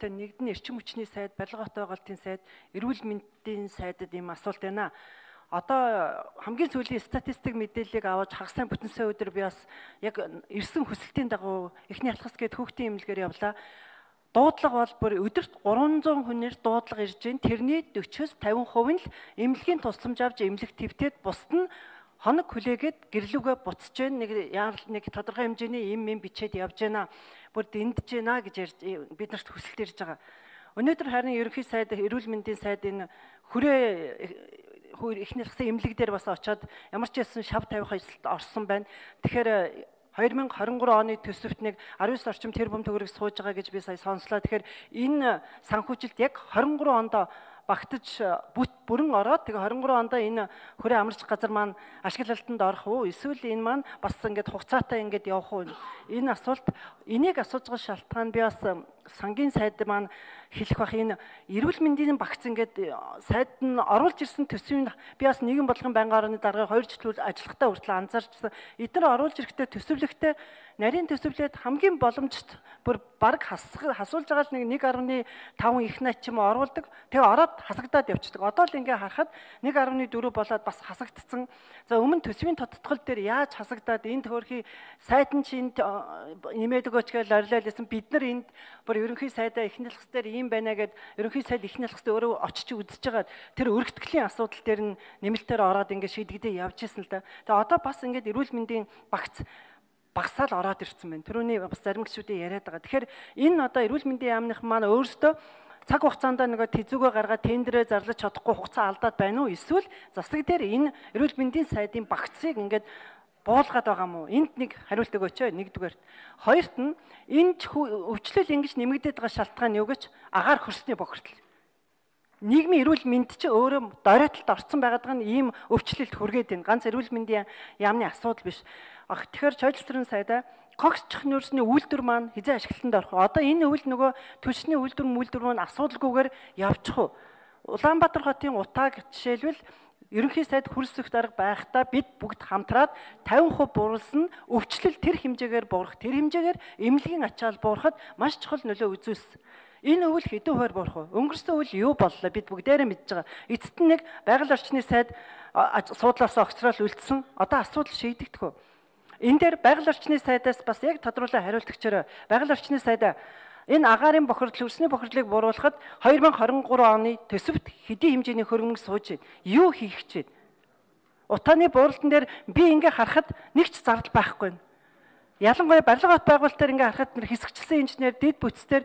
Нэгд нь эрчим хүчний сайд, барилга хотын байгуулалтын сайд, эрүүл мэндийн сайдад ийм асуулт байна. Одоо хамгийн сүүлийн статистик мэдээллийг аваад хагас сайн бүтэн сая өдөр би бас яг ирсэн хүсэлтийн дагуу эхний алхас гээд хүүхдийн эмнэлгээр явлаа. Дуудлага бол бүр өдөрт 300 хүнээр дуудлага ирж байна. Тэрний 40-50% нь л эмнэлгийн тусламж авч эмнэлэг твтээд бусд нь хоног хүлээгээд гэрлүүгээ буцаж байна. Нэг тодорхой хэмжээний им бичээд явж байна. Бүр дэндэж байна гэж бид нарт хүсэлт ирж байгаа. Өнөөдөр харин ерөнхий сайд, эрүүл мэндийн сайд энэ эхний алхсан эмнэлэг дээр бас очиод ямар ч байсан шав тавих ажилд орсон байна. Тэгэхээр 2023 оны төсөвт нэг 19 орчим тэрбум төгрөг сууж байгаа гэж би сая сонслоо. Тэгэхээр энэ санхүүжилт яг 23 онд багтаж бүрэн ороод тэгээ 23 онд энэ хүрээ амарч газар маань ашиглалтанд орох уу? Эсвэл энэ маань бас ингээд хугацаатай ингээд явах уу? Энэ асуулт энийг асууж байгаа шалтгаан би бас сангийн сайд маань хэлэх бах энэ эрүүл мэндийн багц ингээд сайд нь оруулж ирсэн төсвийн би бас нийгэм бодлогын байнгын орны дарга 2 жил ажиллахтаа хүртэл анзаарчсан. Эдгээр оруулж ирэхдээ төсөвлөгтэй нарийн төсөвлөд хамгийн боломжтой бүр баг хасуулж байгаа л 1.5 их найт ч юм уу оруулдаг. Тэгээ ороод хасагдаад явчихдаг. Одоо л ингээ харахад 1.4 болоод бас хасагдцсан. За өмнө төсвийн тодтгол дээр яаж хасагдаад энэ төхөрхий сайд нь чинь нэмээд өгөөч гэж орилоо лсэн бид нар энд бүр ерөнхий сайдаа эхний алхас дээр ийм байна гэд ерөнхий сайд эхний алхас дээр өөрөө очиж үзэж байгаа. Тэр өргөтгөлийн асуудал дээр нь нэмэлтээр ороод ингээ шийдэгдээ явж исэн л да. Тэгээ одоо бас ингээ эрүүл мэндийн багц багсаал ороод ирсэн байна. Тэрүүний бас зарим гишүүдээ яриад байгаа. Тэгэхээр энэ одоо эрүүл мэндийн яамных маань өөрсдөө цаг хугацаанд нөгөө тэзүүгөө гаргаад тендерээ зарлаж чадахгүй хугацаа алдаад байна уу? Эсвэл засаг дээр энэ эрүүл мэндийн сайдын багцыг ингээд буулгаад байгаа мó? Энд нэг хариулт өгөөч. Нэгдүгээрт. Хоёрт нь энэ өвчлөл ингэж нэмэгдээд байгаа шалтгаан юу гэж агаар хөрсний бохирдол. Нийгмийн эрүүл мэнд чи өөрөө доройтолд орсон байгаад байгаа нь ийм өвчлөлт хүргээд байна. Ганц эрүүл мэндийн яамны асуудал биш. Тэгэхээр чойдлсрын сайдаа когсчих нөөцний үйлдвэр маань хизээ ашиглалтанд орох. Одоо энэ үйл нөгөө түлшний үйлдвэр маань асуудалгүйгээр явчих уу? Улаанбаатар хотын утааг жишээлбэл ерөнхий сайд хүрсэх дарга байхдаа бид бүгд хамтраад 50% буурсан өвчлөл тэр хэмжээгээр буурах, тэр хэмжээгээр эмнэлгийн ачаал буурахад маш чухал нөлөө үзүүлсэн. Энэ өвөл хэдэн хувиар буурах вэ? Өнгөрсөн үйл юу боллоо? Бид бүгдээрээ мэдж байгаа. Эцэст нь нэг байгаль орчны сайд суудлаас огцрол үлдсэн. Одоо асуудал шийдэгдэх үү? Энэ дээр байгаль орчны сайдаас бас яг тодруулан хариулт өгчөөрэй. Байгаль орчны сайдаа энэ агаарын бохирдол, хөрсний бохирдлыг бууруулахад 2023 оны төсөвт хэдийн хэмжээний хөрөнгө сууж байна. Юу хийх гэж байна? Утааны бууралтан дээр би ингээ харахад нэг ч зардал байхгүй байна. Ялангуяа барилга хот байгуулалтаар ингээ харахад хэсэгчлсэн инженер, дэд бүтцээр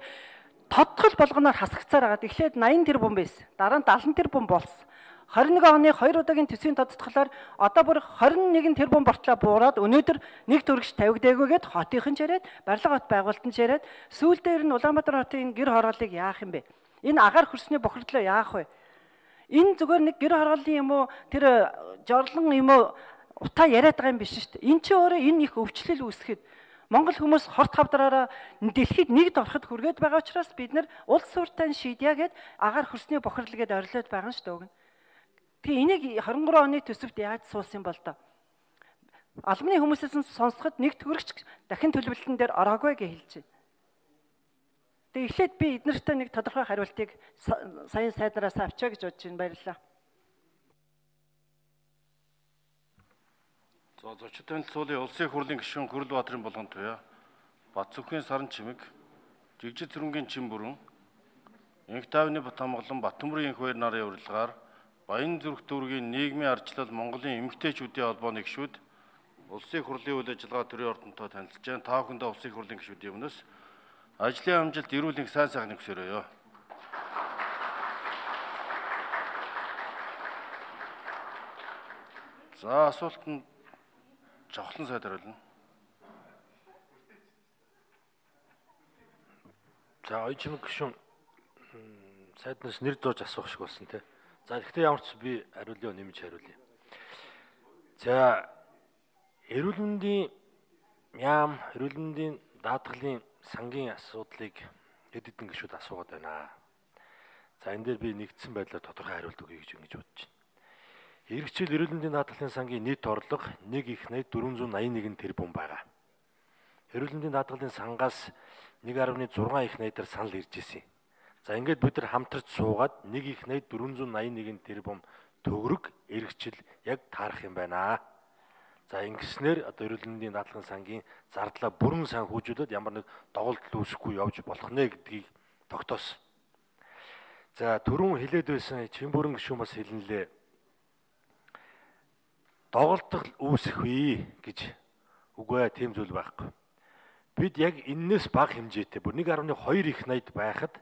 тодтгол болгоноор хасагцаар агаад эхлээд 80 тэрбум байсан. Дараа нь 70 тэрбум болсон. 21 оны 2 удаагийн төсвийн тодтголоор одоо бүр 21 тэрбум бортлоо буураад өнөөдөр нэг төгрөгч тавигдаагүйгээд хотынхан ч яриад барилга хот байгуулалтанд ч яриад сүүлдээр нь Улаанбаатар хотын гэр хорооллыг яах юм бэ? Энэ агаар хөрсний бохирдлоо яах вэ? Энэ зүгээр нэг гэр хорооллын юм уу тэр жорлон юм уу утаа яриад байгаа юм биш шүү дээ. Энэ чи өөрөө энэ их өвчлөл үүсгэхэд Монгол хүмүүс хорт хавдраараа дэлхийд нэгд ороход хүргээд байгаа учраас бид нар улс суурьтай шийдья гэд агаар хөрсний бохирдол гэдээ орилоод байгаа шүү дээ. Тэгээ энийг 23 оны төсөвт яаж суулсан бол доо? Албаны хүмүүсээс сонсоход нэг төгрөгч дахин төлөвлөлтөн дээр ороогүй гэж хэлж байна. Тэгээ эхлээд би эднэртээ нэг тодорхой хариултыг саяын сайднараас авчаа гэж бодож байна. Баярлалаа. За зочид танилцуулын улсын хурлын гишүүн Хөрлбаатарын болгон туяа, Батцүрхгийн саран чимэг, Жигжид зүрэнгийн чин бүрэн, Инхтавны Бат хамглан Баттөмрийн инх баяр нарын урилгаар Баян зүрх дүүргийн нийгмийн ардчлал Монголын эмэгтэйчүүдийн холбооны гишүүд улсын хурлын үйл ажиллагаа төрийн ордонтой танилцж байна. Та бүхэндээ улсын хурлын гишүүдийн өмнөөс ажлын амжилт, эрүүл мэндийн сайн сайхныг хүсээрэй. За асуулт нь Жавхлан сайд хариулна. За оюутан гишүүн сайднаас нэр зурж асуух шиг болсон тий. За гэхдээ ямар ч би хариулъя, нэмж хариулъя. За эрүүл мэндийн яам, эрүүл мэндийн даатгалын сангийн асуудлыг хэд хэдэн гишүүд асуугаад байна. За энэ дээр би нэгдсэн байдлаар тодорхой хариулт өгье гэж бодож байна. Иргэжил эрүүл мэндийн даатгалын сангийн нийт орлого 1 их найт 481 тэрбум байгаа. Эрүүл мэндийн даатгалын сангаас 1.6 их найдаар санал ирж ирсэн. За ингээд бид нар хамтарч суугаад 1,481 тэрбум төгрөг эргэжил яг таарах юм байна. За ингэснээр одоо эрүүл мэндийн даатгалын сангийн зардлаа бүрэн санхүүжүүлээд ямар нэг доголдол үүсэхгүй явж болох нэ гэдгийг тогтоосон. За түрүүн хэлээд байсан Чимбүрэн гишүүн бас хэлнэлээ. Доголдол үүсэхгүй гэж үгүй тийм зүйл байхгүй. Бид яг энэс бага хэмжээтэй бүр 1.2 их найд байхад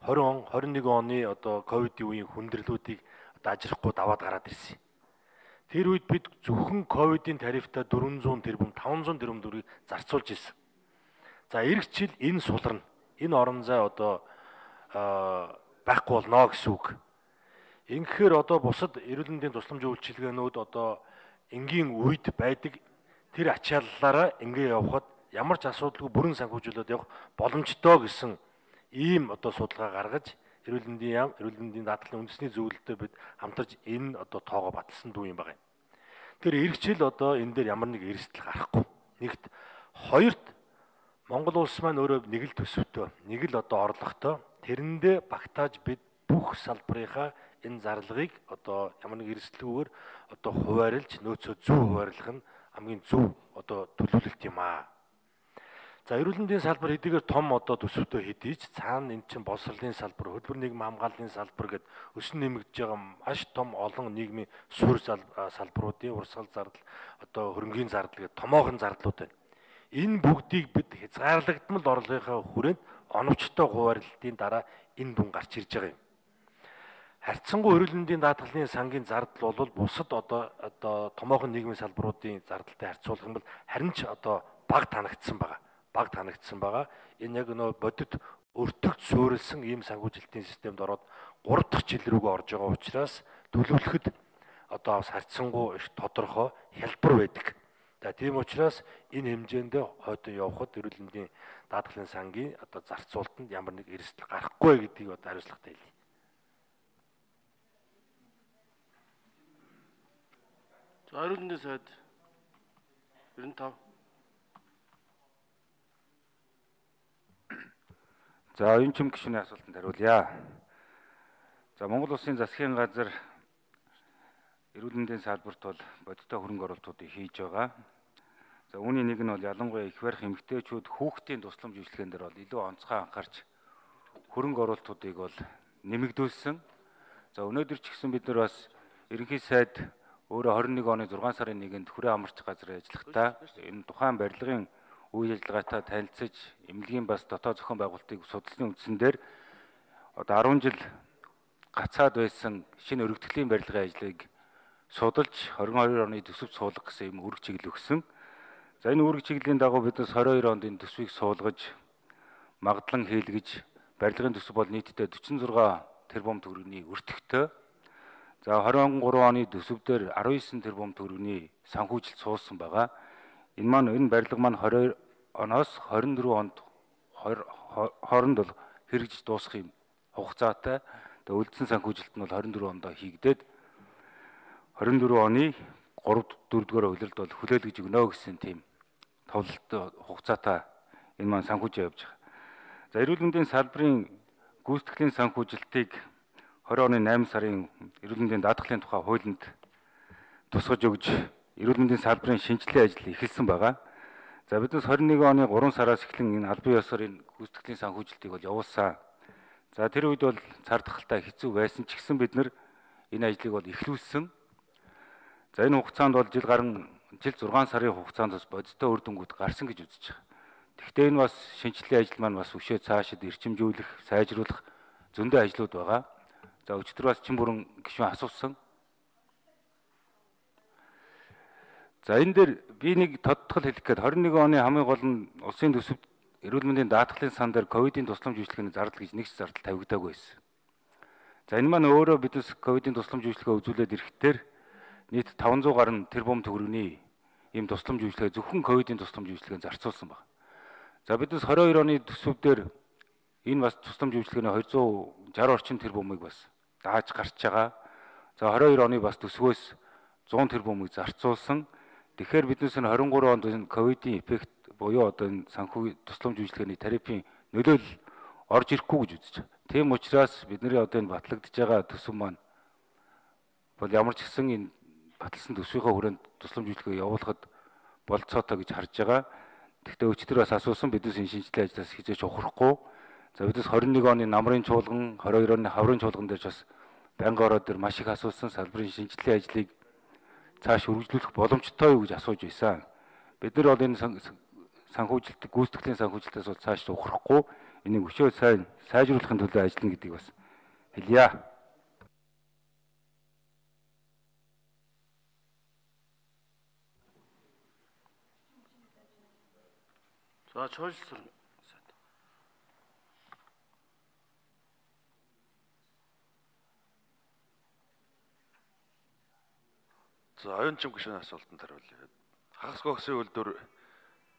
20 он 21 оны одоо ковидын үеийн хүндрэлүүдийг одоо ажрахгүй даваад гараад ирсэн. Тэр үед бид зөвхөн ковидын тарифтаа 400 тэрбум 500 тэрбум төгрөгийг зарцуулж ирсэн. За эх жил энэ суларна. Энэ орон зай одоо байхгүй болно гэсэн үг. Ингэхээр одоо бусад эрүүл мэндийн тусламж үйлчилгээнүүд одоо энгийн үед байдаг тэр ачааллаараа ингээ явхад ямар ч асуудалгүй бүрэн санхүүжүүлээд явах боломжтой гэсэн ийм одоо судалгаа гаргаж эрүүл мэндийн даатгалын үндэсний зөвлөлтөд бид хамтарч энэ одоо тоогоо баталсан дүү юм байна. Тэр эх жил одоо энэ дээр ямар нэг эрсдэл гарахгүй. Нэгт хоёрт Монгол улс маань өөрөө нэг л төсөвтэй, нэг л одоо орлоготой. Тэрэндээ багтааж бид бүх салбарынхаа энэ зарлагыг одоо ямар нэг эрсдэлгүйгээр одоо хуваарлж нөөцөө зөв хуваарлах нь хамгийн зөв одоо төлөвлөлт юм аа. За эрүүл мэндийн салбар хэдийгээр том одоо төсөвтэй хэдий ч цаана эн чинь боловсролын салбар, хөдөлмөр нийгмийн хамгааллын салбар гэд өсөн нэмэгдэж байгаа маш том олон нийгмийн суурь салбаруудын урсгал зардал, одоо хөрөнгийн зардал гэд томоохон зардлууд байна. Энэ бүгдийг бид хязгаарлагдмал орлогынхаа хүрээнд оновчтой хуваарлалтын дараа энэ дүн гарч ирж байгаа юм. Харьцангуй эрүүл мэндийн даатгалын сангийн зардал бол бусад одоо томоохон нийгмийн салбаруудын зардалтай харьцуулах юм бол харин ч одоо бага танагдсан байгаа. Энэ яг нөө бодит өртөгд суурилсан ийм санхүүжилтийн системд ороод 3 дахь жил рүүгээ орж байгаа учраас төлөвлөхөд одоо бас харьцангуй их тодорхой хялбар байдаг. За тийм учраас энэ хэмжээндээ хойдон явхад эрүүл мэндийн даатгалын сангийн одоо зарцуулалтанд ямар нэг эрсдэл гарахгүй гэдгийг одоо хариуцлагатай хэлье. За эрүүл мэндийн сайд 95. За оюун чим гишүүний асуултанд хариулъя. За Монгол Улсын засгийн газар эрүүл мэндийн салбарт бол бодиттой хөрөнгө оруулалтуудыг хийж байгаа. За үүний нэг нь бол ялангуяа их барих эмэгтэйчүүд хүүхдийн тусламж үйлчилгээнд дээр бол илүү онцгой анхаарч хөрөнгө оруулалтуудыг бол нэмэгдүүлсэн. За өнөөдөр ч гэсэн бид нар бас ерөнхий сайд өөрөө 21 оны 6 сарын 1-нд хүрээ амарч газрын ажиллагаатаа энэ тухайн барилгын үйл ажиллагаатай танилцж эмнэлгийн бас дотоод зохион байгуулалтыг судалсны үндсэн дээр одоо 10 жил гацаад байсан шинэ өргөдлийн барилгын ажлыг судалж 22 оны төсөвт суулгах гэсэн юм үүрэг чиглэл өгсөн. За энэ үүрэг чиглэлийн дагуу биднес 22 онд энэ төсвийг суулгаж магадлан хийлгэж барилгын төсөв бол нийтдээ 46 тэрбум төгрөгийн өртөгтэй. За 23 оны төсөвдөр 19 тэрбум төгрөгийн санхүүжилт суулсан байгаа. Энэ барилга маань 22 оноос 24 онд хооронд бол хэрэгжиж дуусах юм хугацаатай. Тэгээ үлдсэн санхүүжилт нь бол 24 онд хийгдээд 24 оны 3-4-р улиралд бол хүлээлгэж өгнө гэсэн тийм товлолттой хугацаатай энэ маань санхүүжээ явж байгаа. За эрүүл мэндийн салбарын гүйцэтгэлийн санхүүжилтийг 20 оны 8 сарын эрүүл мэндийн даатгалын тухай хуулинд тусгаж өгж эрүүл мэндийн салбарын шинжилгээ ажил эхэлсэн байгаа. За биднес 21 оны 3 сараас эхлэн энэ албан ёсоор энэ гүйцэтгэлийн санхүүжилтийг бол явуулсан. За тэр үед бол цар тахалтай хэцүү байсан ч гэсэн бид нар энэ ажлыг бол эхлүүлсэн. За энэ хугацаанд бол жил 6 сарын хугацаанд бас бодиттой үр дүнгууд гарсан гэж үзэж байгаа. Гэхдээ энэ бас шинжилгээ ажил маань бас өшөө цаашид эрчимжүүлэх, сайжруулах зөндөө ажлууд байгаа. За өчтөр бас Чимбүрэн гишүүн асуусан. За энэ дээр би нэг тодтгол хэлэх гээд 21 оны хамгийн гол нь улсын төсөвт эрүүл мэндийн даатгалын сан дээр ковидын тусламж үйлчилгээний зардал гэж нэг ч зардал тавигдаагүй байсан. За энэ маань өөрөө биднес ковидын тусламж үйлчилгээ үзүүлээд ирэхдээ нийт 500 гаруй тэрбум төгрөгийн ийм тусламж үйлчилгээ зөвхөн ковидын тусламж үйлчилгээнд зарцуулсан байна. За биднес 22 оны төсөвдөр энэ бас тусламж үйлчилгээний 260 орчим тэрбумыг бас дааж гарч байгаа. За 22 оны бас төсвөөс 100 тэрбумыг зарцуулсан. Тэгэхээр биднес нь 23 онд энэ ковидын эффект буюу одоо энэ санхүү тусламж үйлчилгээний тарифын нөлөөлөл орж ирэхгүй гэж үзэж байна. Тийм учраас бидний одоо энэ батлагдж байгаа төсөв маань бол ямар ч гэсэн энэ баталсан төсвийнхөө хүрээнд тусламж үйлчлэгээ явуулахад болцоотой гэж харж байгаа. Гэхдээ өчтөр бас асуусан бидээс энэ шинжилгээ ажлаас хизээч ухрахгүй. За бидээс 21 оны намрын чуулган, 22 оны хаврын чуулган дээр бас байнгын ороод дээр маш их асуусан салбарын шинжилгээ ажлыг цааш үргэлжлүүлэх боломжтой юу гэж асууж байсан. Бид нар бол энэ санхүүжилт, гүйцэтгэлийн санхүүжилтээс бол цааш ухрахгүй энийг өшөө сайн сайжруулахын төлөө ажиллана гэдгийг бас хэлье. За чуулсан. За оюун чим гишүүний асуултанд хариулъя. Хагас гогсын үйлдвэр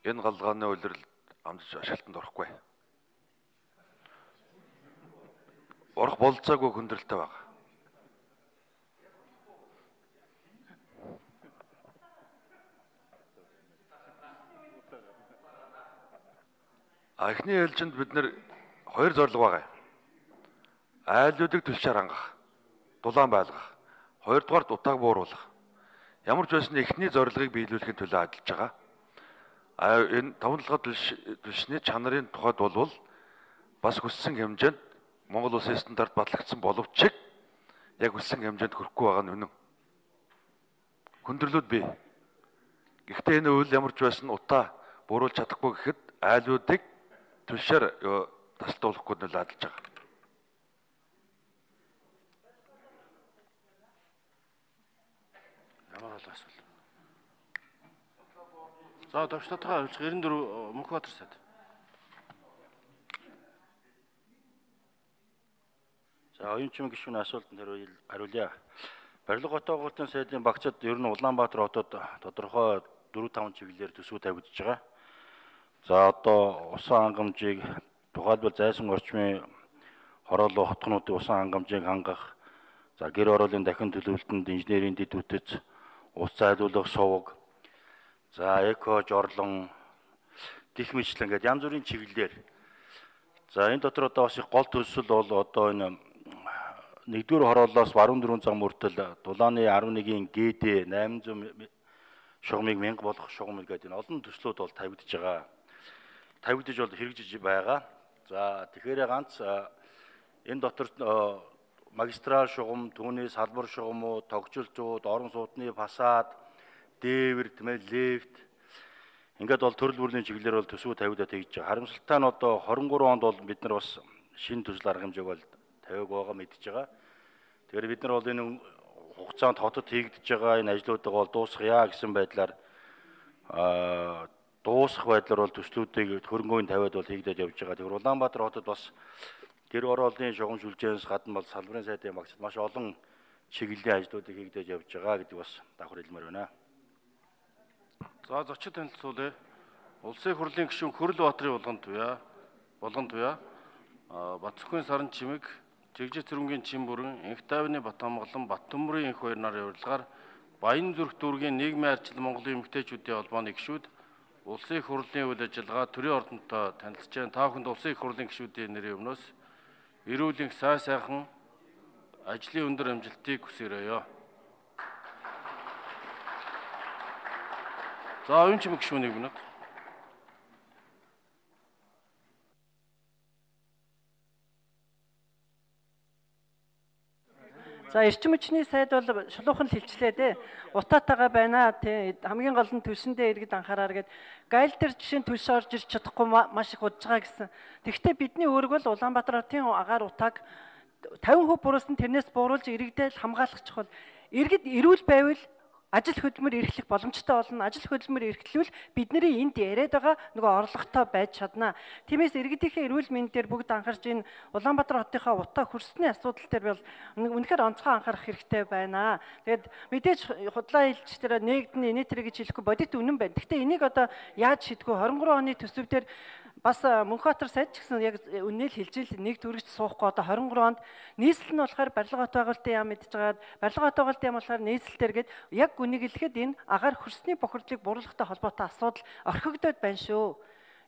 энэ галгааны улирлд амжиж ашиглалтанд орохгүй. Орох болцоогүй хүндрэлтэй байна. Эхний ээлжинд бид нэр хоёр зорилго байгаа. Айлуудыг түлшээр хангах, дулаан байлгах, хоёрдугаар дутааг бууруулах. Ямар ч байсан эхний зорилгыг биелүүлэхийн төлөө ажиллаж байгаа. Энэ тавталгаа түлшний чанарын тухайд бол бас хүссэн хэмжээнд Монгол улсын стандарт батлагдсан боловч яг хүссэн хэмжээнд хүрэхгүй байгаа нь үнэн. Хүндрэлүүд бий. Гэхдээ энэ үйл ямар ч байсан утаа бууруулж чадахгүй гэхэд айлуудыг түлшээр тасалдуулахгүй нөлөө ажиллаж байгаа. Ямар асуулт. За төвчтойгоо авчих 94 Мөнхбаатар сайд. За оюун чим гишүүний асуултанд хариулъя. Барилга хотоогоолтын сайдын багцад ер нь Улаанбаатар хотод тодорхой 4-5 чиглэлээр төсөв тавигдж байгаа. За одоо усан хангамжийг тухайлбал зайсан орчмын хорооллоо хотгонуудын усан хангамжийг хангах, за гэр ороолын дахин төлөвлөлтөнд инженерийн дэд үтц, ус зайлуулах сувг, за эко жорлон гэх мэтлэн ингээд янз бүрийн чиглэлээр. За энэ дотор одоо бас их гол төлсөл бол одоо энэ 1-р хорооллоос баруун 4 зам хүртэл дулааны 11-ийн ГД 800 шугамыг 1000 болох шугамыг гэдэг энэ олон төслүүд бол тавигдж байгаа. Тавигдж бол хэрэгжиж байгаа. За тэгэхээр ганц энэ дотор магистрал шугам, түүний салбар шугамууд, тогтжилтууд, орон сууцны фасад, дээвэр, лифт ингээд бол төрөл бүрийн чиглэлээр бол төсөв тавигдаад хийж байгаа. Харамсалтай нь одоо 23 онд бол бид нар бас шинэ төсөл арга хэмжээг бол тавиаг байгаа мэдж байгаа. Тэгэхээр бид нар бол энэ хугацаанд хотод хийгдэж байгаа энэ ажлуудыг бол дуусгая гэсэн байдлаар дуусах байдлаар бол төслүүдийг хөрөнгөний тавиад бол хийгдэж явж байгаа. Тэгэхээр Улаанбаатар хотод бас гэр ороолын шугам сүлжээнээс гадна бол салбарын сайдын багцад маш олон чиглэлийн ажлуудыг хийгдэж явж байгаа гэдэг бас давхар хэлмээр байна. За зочид танилцуулъя. Улсын хурлын гишүүн Хөрлбаатарын Булган Туяа, Бацөхийн Саран Чимэг, Жигжиг Цэрэнгийн Чин бүрэн, Энх Тайвны Батамгалан, Баттөмбөрийн энх хоёр нарын урилгаар Баян зүрх дүүргийн нийгмийн ардчил Монголын эмэгтэйчүүдийн холбооны гишүүд улсын их хурлын үйл ажиллагаа төрийн ордонтой танилцж байна. Та бүхэнд улсын их хурлын гишүүдийн нэрийн өмнөөс эрүүл энх сайхан ажлын өндөр амжилтыг хүсээрэй. За оюун чим гишүүнийг минут. За эрчим хүчний сайд бол шулуухан л хэлчлээ дээ. Утаатайгаа байна тий. Хамгийн гол нь төлсөндөө иргэд анхаараар гээд гайл дээр жишээ нь төлс орж ирч чадахгүй маш их удаж байгаа гэсэн. Тэгэхдээ бидний үүрэг бол Улаанбаатар хотын агаар утааг 50% буруулсан тэрнээс бууруулж иргэдээ хамгаалах чухал. Иргэд эрүүл байвал ажил хөдөлмөр эрхлэх боломжтой болно. Ажил хөдөлмөр эрхлүүл бидний энд яриад байгаа нөгөө орлоготой байж чадна. Тиймээс иргэдийнхээ эрүүл мэнд дээр бүгд анхаарч энэ Улаанбаатар хотынхаа утаа хөрсний асуудал дээр бол үнэхээр онцгой анхаарах хэрэгтэй байна. Тэгээд мэдээж худлаа хэлж тэр нэгдэн инээтрэ гэж хэлэхгүй бодит үнэн байна. Гэхдээ энийг одоо яаж шийдэх вэ? 23 оны төсөв дээр бас Мөнхбаатар сайд ч гэсэн яг үнээл хэлж ил нэг төрөгч суухгүй одоо 23 онд нийслэл нь болохоор барилга хот байгуулалтын яам мэдчихээд барилга хот байгуулалтын яам болохоор нийслэлээр гээд яг үнийг хэлэхэд энэ агаар хөрсний бохирдлыг бууруулахтай холбоотой асуудал орхигдоод байна шүү.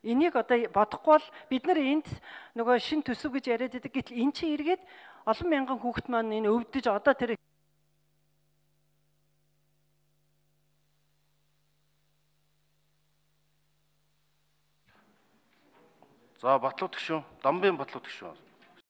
Энийг одоо бодохгүй бол бид нар энд нөгөө шин төсөв гэж яриад байдаг. Гэтэл эн чинь эргээд олон мянган хүүхэд маань энэ өвдөж одоо тэр За Батлууд гишүүн, Дамбын Батлууд гишүүн.